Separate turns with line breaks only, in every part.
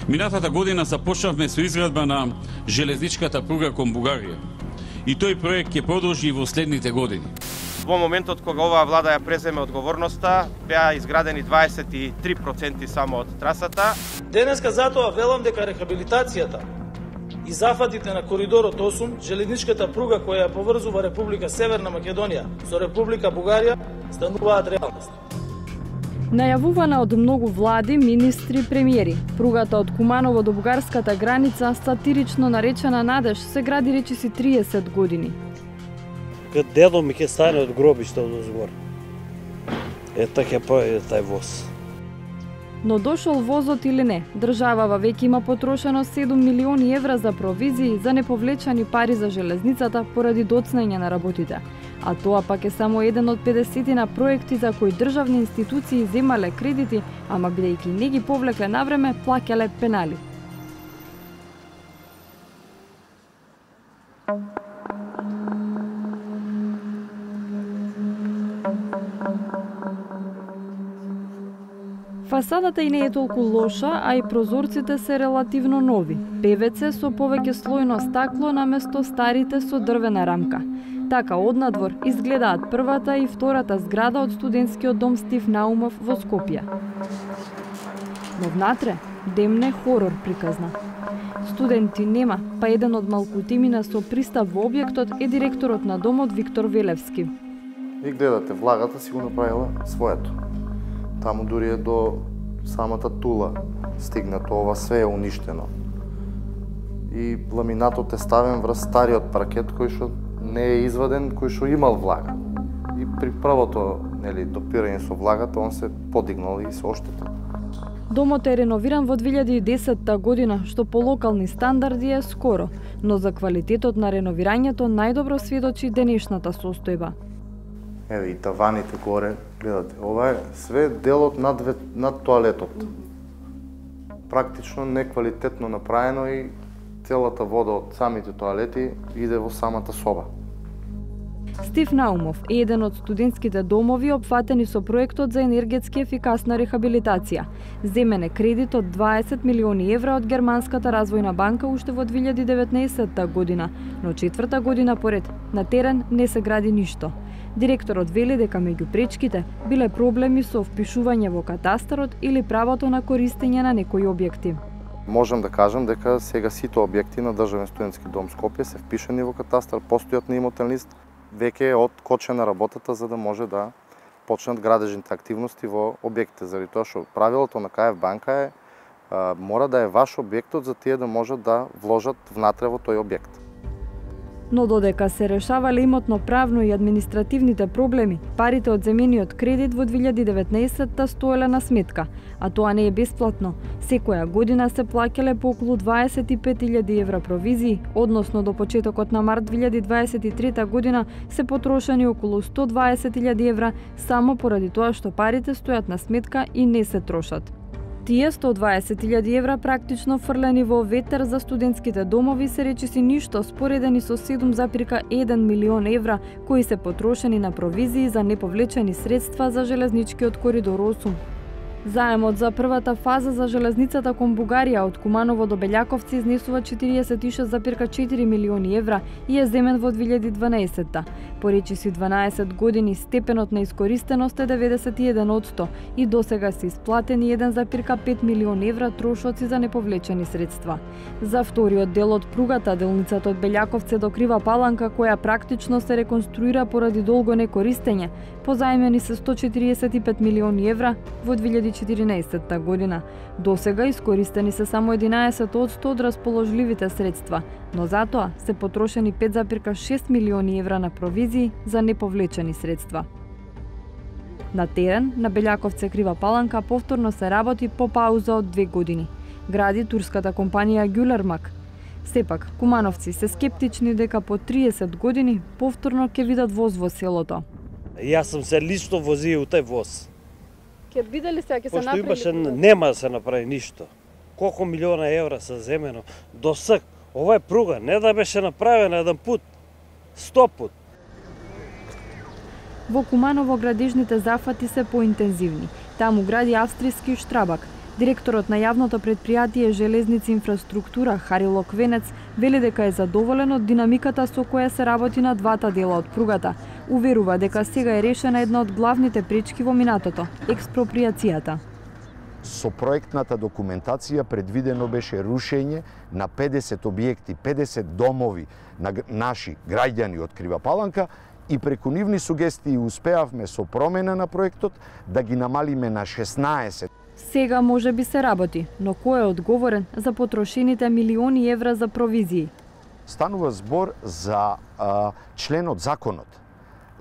Минатата година започнавме со изградба на железничката пруга кон Бугарија. И тој проект ќе продолжи и во следните години.
Во моментот кога оваа влада ја преземе одговорноста, беа изградени 23% само од трасата.
Денеска затоа велам дека рехабилитацијата и зафатите на коридорот 8, железничката пруга која ја поврзува Република Северна Македонија со Република Бугарија, стануваат реалност.
Најавувана од многу влади, министри, премиери, пругата од Куманово до бугарската граница, сатирично наречена Надеж, се гради речиси 30 години.
Кад дедо ми ќе стане од гробишта од озгор. Ќе прави тај воз.
Но дошол возот или не, државава веќе има потрошено 7 милиони евра за провизии за неповлечани пари за железницата поради доцнање на работите. А тоа пак е само еден од 50 проекти за кои државни институции земале кредити, ама бидејќи не ги повлекле навреме, плаќале пенали. Фасадата и не е толку лоша, а и прозорците се релативно нови. ПВЦ со повеќе слојно стакло наместо старите со дрвена рамка. Така однадвор изгледаат првата и втората зграда од студентскиот дом Стив Наумов во Скопје. Но внатре демне хорор приказна. Студенти нема, па еден од малкутимина со пристап во објектот е директорот на домот Виктор Велевски.
И гледате, влагата си го направила своето. Таму дури е до самата тула стигнато, ова све е уништено. И ламинатот е ставен врз стариот паркет кој што не е изваден, кој што имал влага. И при првото допирање со влагата, он се подигнал и се оштетил.
Домот е реновиран во 2010 година, што по локални стандарди е скоро, но за квалитетот на реновирањето најдобро сведочи денешната состојба.
Еве и таваните горе, гледате, ова е све делот над тоалетот. Практично неквалитетно направено и целата вода од самите тоалети иде во самата соба.
Стив Наумов е еден од студентските домови опфатени со проектот за енергетски ефикасна рехабилитација. Земен е кредит од 20 милиони евра од Германската развојна банка уште во 2019 година, но четврта година поред на терен не се гради ништо. Директорот вели дека меѓу пречките биле проблеми со впишување во катастарот или правото на користење на некои објекти.
Можам да кажам дека сега сите објекти на Државен студентски дом Скопје се впишани во катастар, постојат на имотен лист, веќе е откочена работата за да може да почнат градежните активности во објектите, заради тоа што правилото на КФ банка е мора да е ваш објектот за тие да можат да вложат внатре во тој објект.
Но додека се решавале имотно правно и административните проблеми, парите од земениот кредит во 2019 стоеле на сметка, а тоа не е бесплатно. Секоја година се плаќале по околу 25.000 евра провизии, односно до почетокот на март 2023 година се потрошени околу 120.000 евра само поради тоа што парите стојат на сметка и не се трошат. Тие 120.000 евра практично фрлени во ветер за студентските домови се речиси ништо споредени со 7,1 милион евра кои се потрошени на провизии за неповлечени средства за железничкиот коридор 8. Заемот за првата фаза за железницата кон Бугарија од Куманово до Белјаковци изнесува 46,4 милиони евра и е земен во 2012-та. По речиси 12 години степенот на искористеност е 91% и досега се исплатени 1,5 милиони евра трошоци за неповлечени средства. За вториот дел од пругата, делницата од Белјаковци до Крива Паланка, која практично се реконструира поради долго некористење, позаемени се 145 милиони евра во 2014 година. Досега искористени се само 11% од расположливите средства, но затоа се потрошени 5,6 милиони евра на провизии за неповлечени средства. На терен, на Белјаковци Крива Паланка повторно се работи по пауза од 2 години. Гради турската компанија Гюлермак. Сепак, кумановци се скептични дека по 30 години повторно ќе видат воз во селото.
Јас сум се лично возио у тај воз.
Ќе биде ли се, ќе се направи?
Пошто имаше, нема да се направи ништо. Колку милиона евра се земено до сак. Ова е пруга, не да беше направена еден пут, 100 пут.
Во Куманово градежните зафати се поинтензивни. Таму гради австријски Штрабак. Директорот на јавното претпријатие Железници инфраструктура Харило Квенец вели дека е задоволен од динамиката со која се работи на двата дела од пругата. Уверува дека сега е решена една од главните пречки во минатото – експроприацијата.
Со проектната документација предвидено беше рушење на 50 објекти, 50 домови на наши граѓани од Крива Паланка и преку нивни сугестии успеавме со промена на проектот да ги намалиме на 16.
Сега може би се работи, но кој е одговорен за потрошените милиони евра за провизии?
Станува збор за членот законот,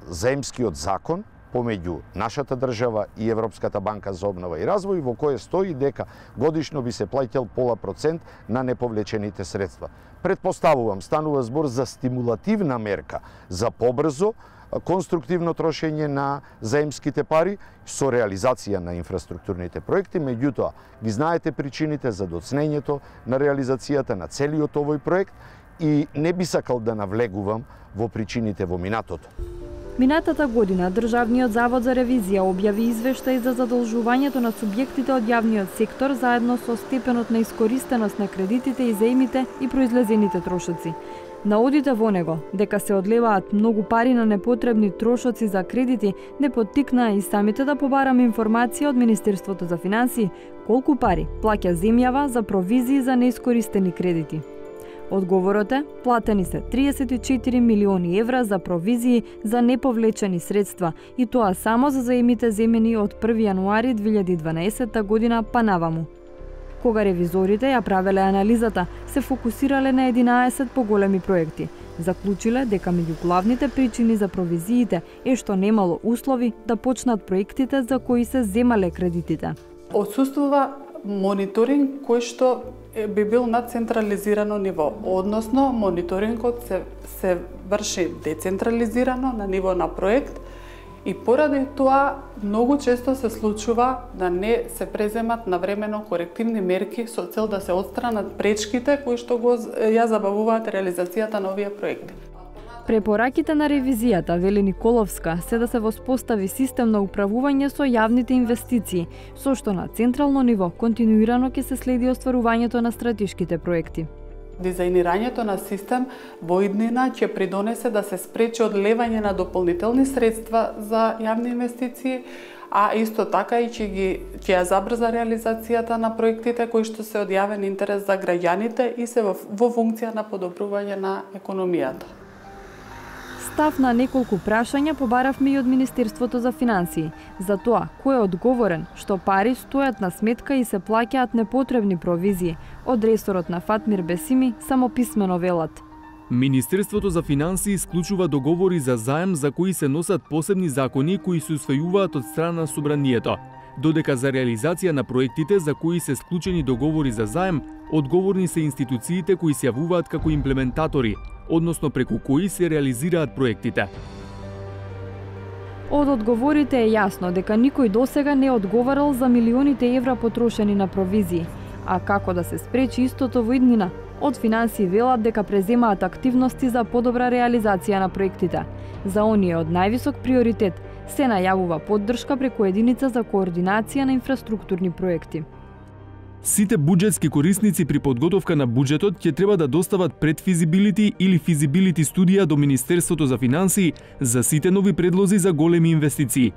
заемскиот закон помеѓу нашата држава и Европската банка за обнова и развој, во кој стои дека годишно би се плаќал 0,5% на неповлечените средства. Предпоставувам, станува збор за стимулативна мерка за побрзо конструктивно трошење на заемските пари со реализација на инфраструктурните проекти, меѓутоа ги знаете причините за доцнењето на реализацијата на целиот овој проект и не би сакал да навлегувам во причините во минатото.
Минатата година Државниот завод за ревизија објави извештај за задолжувањето на субјектите од јавниот сектор заедно со степенот на искористеност на кредитите и заемите и произлезените трошоци. Наодите во него дека се одлеваат многу пари на непотребни трошоци за кредити не поттикнаа и самите да побараме информација од Министерството за финансии колку пари плаќа земјава за провизии за неискористени кредити. Одговорот е, платени се 34 милиони евра за провизии за неповлечени средства и тоа само за заемите земени од 1 јануари 2012 година па наваму. Кога ревизорите ја правеле анализата, се фокусирале на 11 поголеми проекти. Заклучиле дека меѓу главните причини за провизиите е што немало услови да почнат проектите за кои се земале кредитите.
Отсуствува мониторинг кој што би бил на централизирано ниво, односно мониторингот се врши децентрализирано на ниво на проект и поради тоа многу често се случува да не се преземат навремено корективни мерки со цел да се отстранат пречките кои што ја забавуваат реализацијата на овие проекти.
Препораките на ревизијата, вели Николовска, се да се воспостави систем на управување со јавните инвестиции, со што на централно ниво континуирано ќе се следи остварувањето на стратешките проекти.
Дизајнирањето на систем во иднина ќе придонесе да се спречи одлевање на дополнителни средства за јавни инвестиции, а исто така и ќе ја забрза реализацијата на проектите кои што се од јавен интерес за граѓаните и се во функција на подобрување на економијата.
Став на неколку прашања побаравме и од Министерството за финансии, за тоа кој е одговорен што пари стојат на сметка и се плаќаат непотребни провизии. Од ресорот на Фатмир Бесими само писмено велат.
Министерството за финансии склучува договори за заем за кои се носат посебни закони кои се усвојуваат од страна на Собранието, додека за реализација на проектите за кои се склучени договори за заем, одговорни се институциите кои се јавуваат како имплементатори, односно преку кои се реализираат проектите.
Од одговорите е јасно дека никој досега не одговарал за милионите евра потрошени на провизии. А како да се спречи истото во иднина? Од финансии велат дека преземаат активности за подобра реализација на проектите. За оние од највисок приоритет се најавува поддршка преку единица за координација на инфраструктурни проекти.
Сите буџетски корисници при подготовка на буџетот ќе треба да достават предфизибилити или физибилити студија до Министерството за финансии за сите нови предлози за големи инвестиции.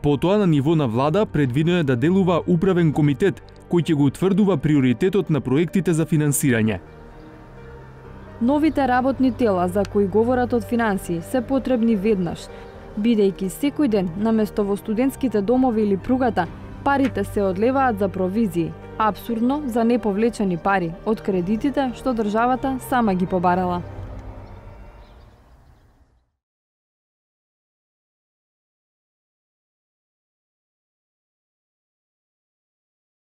Потоа на ниво на влада предвидено е да делува управен комитет кој ќе го утврдува приоритетот на проектите за финансирање.
Новите работни тела за кои говорат од финансии се потребни веднаш, бидејќи секој ден наместо во студентските домови или пругата парите се одлеваат за провизии, апсурдно за неповлечени пари од кредитите што државата сама ги побарала.